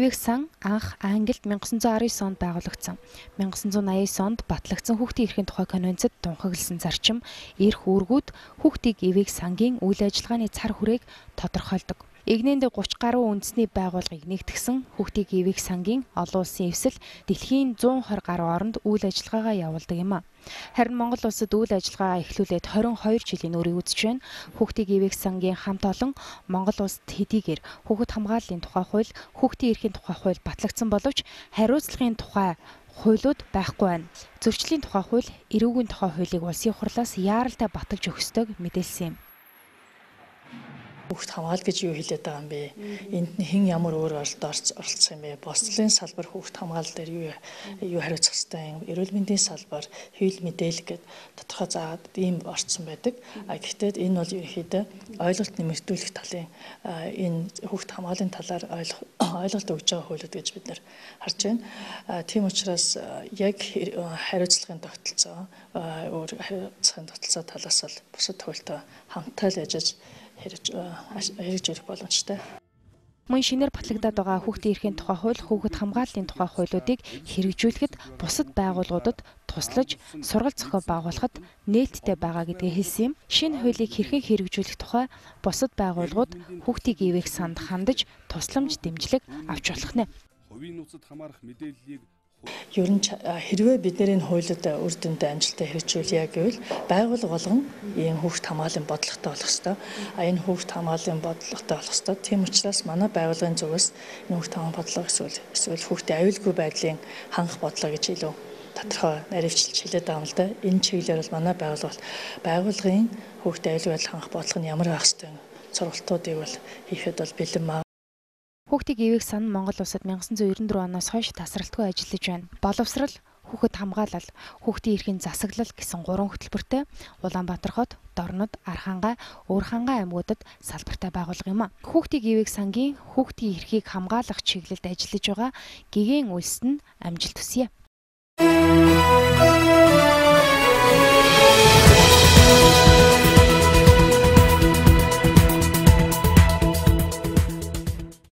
ивэх сан анх Англид 1919 онд байгуулагдсан. 1989 онд батлагдсан хүүхдийн эрхийн тухай конвенцэд тунхагласан зарчим эрх үүргүүд хүүхдийг ивэх сангийн үйл ажиллагааны цар хүрээг тодорхойлдог. Игнэнд 30 гаруй үндэсний байгууллагыг нэгтгсэн хүүхдийн ивэх сангийн олон улсын эвсэл дэлхийн 120 гаруй оронд үйл ажиллагаагаа явуулдаг юм а. Харин Монгол улсад үйл ажиллагаа эхлүүлээд 22 жилийн үрийг үзэж байна. Хүүхдийн ивэх сангийн хамт олон Монгол улсад хэдийгээр хүүхэд хамгааллын тухай хууль, хүүхдийн эрхийн тухай хууль батлагдсан боловч хариуцлагын тухай хуулиуд байхгүй байна. Зөрчлийн тухай хууль, эрүүгийн тухай хуулийг улсын хурлаас яаралтай баталж өгөх ёстойг мэдээлсэн юм. Хүүхд хамгаал гэж юу хэлээд байгаа юм бэ? Энд нь хэн ямар өөр оролцох юм бэ? Бослолын салбар хүүхд хамгаал дээр юу хариуцах ёстой юм? Эрүүл мэндийн салбар, хэвлэл мэдээлэл гэд тодорхой заагаад ийм орцсон байдаг. Гэхдээ энэ бол ерөнхийдөө ойлголт нэмэгдүүлэх талын энэ хүүхд хамгааллын талаар ойлголт өгж байгаа хуулиуд гэж бид нэр харж байна. Тийм учраас яг хариуцлагын тогтолцоо, өөр хариуцлагын тогтолцоо талаас бол бусад хуультай хамтаа л яжиж хэрэгж ирэх боломжтой. Мөн шинээр батлагдаад байгаа хүүхдийн эрхийн тухай хууль, хүүхэд хамгааллын тухай хуулиудыг хэрэгжүүлэхэд бусад байгууллагуудад туслаж сургалт зохион байгуулахад нээлттэй байгаа гэдгийг хэлсэн юм. Шинэ хуулийг хэрхэн хэрэгжүүлэх тухай бусад байгууллагууд хүүхдийг ивэх санд хандаж тусламж дэмжлэг авч болох нэ. Хувийн нууцад хамаарах мэдээллийг Ер нь хэрвээ бид нэр энэ хуулиуд үр дүндээ амжилттай хэрэгжүүлье гэвэл байгууллага болгон ийм хүүхд хамгааллын бодлоготой болох ёстой. Энэ хүүхд хамгааллын бодлоготой болох ёстой. Тийм учраас манай байгууллагын зүгээс хүүхд хамгааллын бодлого эсвэл хүүхдийн аюулгүй байдлын хангах бодлого гэж илүү тодорхой наривчлж хэлээд байгаа юм л да. Энэ чиглэлээр бол манай байгууллагын хүүхдийн аюулгүй байдлыг хангах бодлого нь ямар байх ёстой вэ? Сургалтуудыг бол хийхэд бол бэлэн маа. Хүүхдийн ивэх сан Монгол улсад 1994 оноос хойш тасралтгүй ажиллаж байна. Боловсрал, хүүхэд хамгаалал, хүүхдийн эрхийн засаглал гэсэн 3 хөтөлбөртэй Улаанбаатар хот, Дорнод, Архангай, Өөрхангай аймагуудад салбартай байгуулга юм а. Хүүхдийн ивэх сангийн хүүхдийн эрхийг хамгаалах чиглэлд ажиллаж байгаа гэгээн улсад нь амжилт хүсье.